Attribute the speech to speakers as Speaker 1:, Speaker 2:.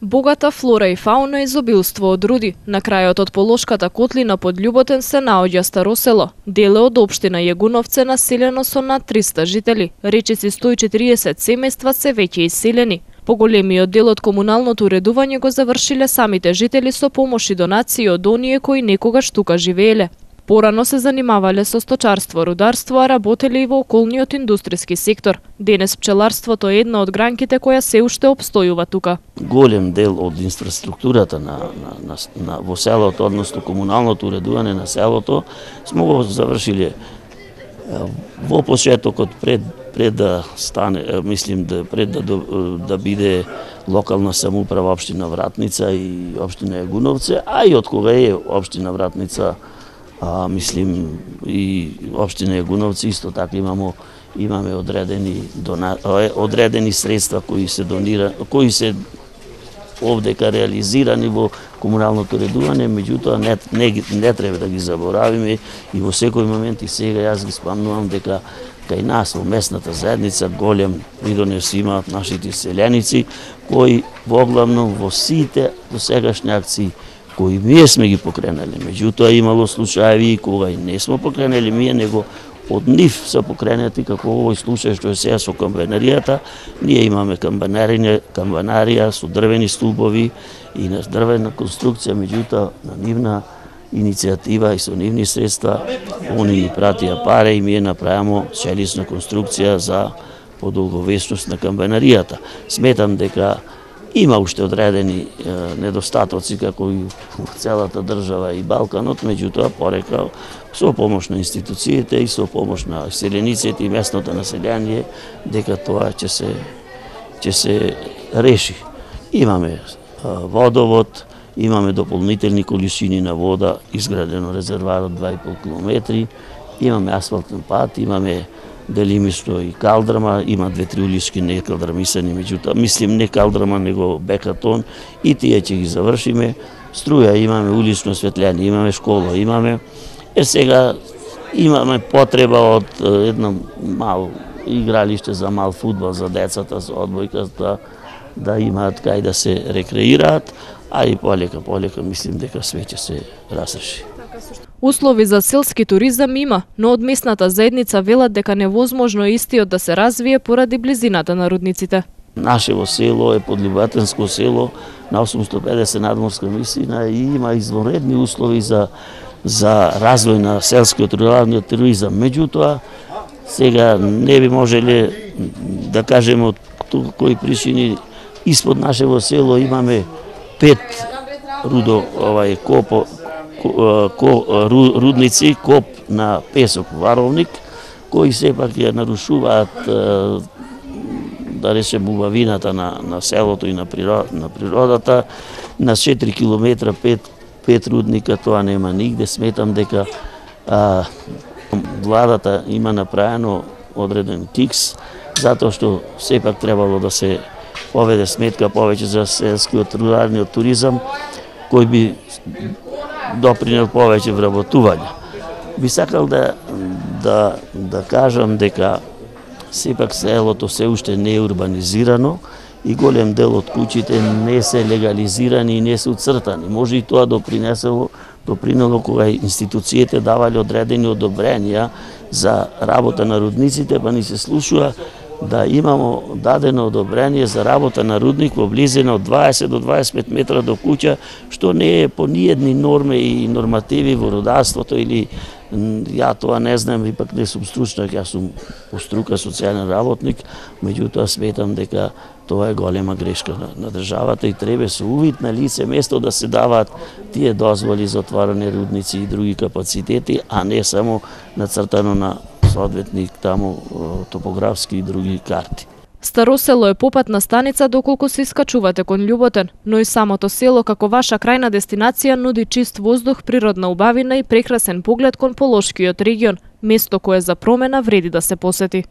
Speaker 1: Богата флора и фауна, изобилство од руди. На крајот од Полошката котлина под Љуботен се наоѓа Старо село, дело од општина Јагуновце населено со над 300 жители. Речиси 140 семејства се веќе иселени. Поголемиот дел од комуналното уредување го завршиле самите жители со помош и донации од оние кои некогаш тука живееле. Порано се занимавале со сточарство, рударство, а работеле и во околниот индустријски сектор. Денес пчеларството е една од гранките која се уште опстојува тука.
Speaker 2: Голем дел од инфраструктурата во селото, односно комуналното уредување на селото, сме го завршиле во почетокот пред да стане, мислим пред да биде локална самоуправа општина Вратница и општина Јагуновце, а и од кога е општина Вратница, мислим и општина Јагуновци исто така имаме одредени средства кои се овдека реализирани во комуналното уредување, меѓутоа не треба да ги заборавиме и во секој момент и сега јас ги спомнувам дека кај нас во местната заедница голем придонес имаат нашите селеници кои воглавно во сите досегашни акции кои ние сме ги покренале. Меѓутоа имало случаи кога и не сме покренали ние, него од нив се покренати, како овој случај што е сега со камбанаријата. Ние имаме камбанарија со дрвени столбови и на дрвена конструкција, меѓутоа на нивна иницијатива и со нивни средства они ни пратија пари и ние направимо челисна конструкција за подолговечност на камбанаријата. Сметам дека има уште одредени недостатоци како и во целата држава и Балканот, меѓутоа порека со помош на институциите и со помош на селениците и местното население дека тоа ќе се реши. Имаме водовод, имаме дополнителни количини на вода, изградено резервар од 2,5 километри, имаме асфалтен пат, имаме делимично и калдрама, има 2-3 улички не калдрамисани, меѓутоа мислим не калдрама него бекатон и тие ќе ги завршиме. Струја имаме, улично осветление имаме, школа имаме. Сега имаме потреба од едно мало игралиште за мал фудбал за децата, за одбојката, да имаат кај да се рекреираат, а и полека мислим дека све ќе се разреши.
Speaker 1: Услови за селски туризам има, но од местната заедница велат дека невозможно истиот да се развие поради близината на рудниците.
Speaker 2: Нашево село е подливатенско село на 850 надморска висина и има извонредни услови за развој на селскиот руралниот туризам. Меѓутоа, сега не би можеле да кажеме од кои причини испод нашево село имаме 5 рудници, коп на песок варовник, кои сепак ја нарушуваат да речем убавината на селото и на природата. На 4 километра 5 рудника тоа нема нигде. Сметам дека владата има направено одреден кикс, затоа што сепак требало да се поведе сметка повеќе за селскиот руралниот туризам, кој би допринел повеќе вработување. Би сакал да кажам дека сепак селото се уште не е урбанизирано и голем дел од куќите не се легализирани и не се уцртани. Може и тоа допринело кога институциите давале одредени одобренија за работа на рудниците, па ни се слушува да имамо дадено одобрение за работа на рудник во близина од 20 до 25 метра до куќа, што не е по ниедни норми и нормативи во рударството или ја тоа не знам, ипак не сум стручнак, јас сум по струка социјален работник, меѓутоа сметам дека тоа е голема грешка на државата и треба со увид на лице место да се даваат тие дозволи за отворање рудници и други капацитети, а не само нацртано на соодветни таму топографски и други карти.
Speaker 1: Старо село е попатна станица доколку се искачувате кон Љуботен, но и самото село како ваша крајна дестинација нуди чист воздух, природна убавина и прекрасен поглед кон Полошкиот регион, место кое за промена вреди да се посети.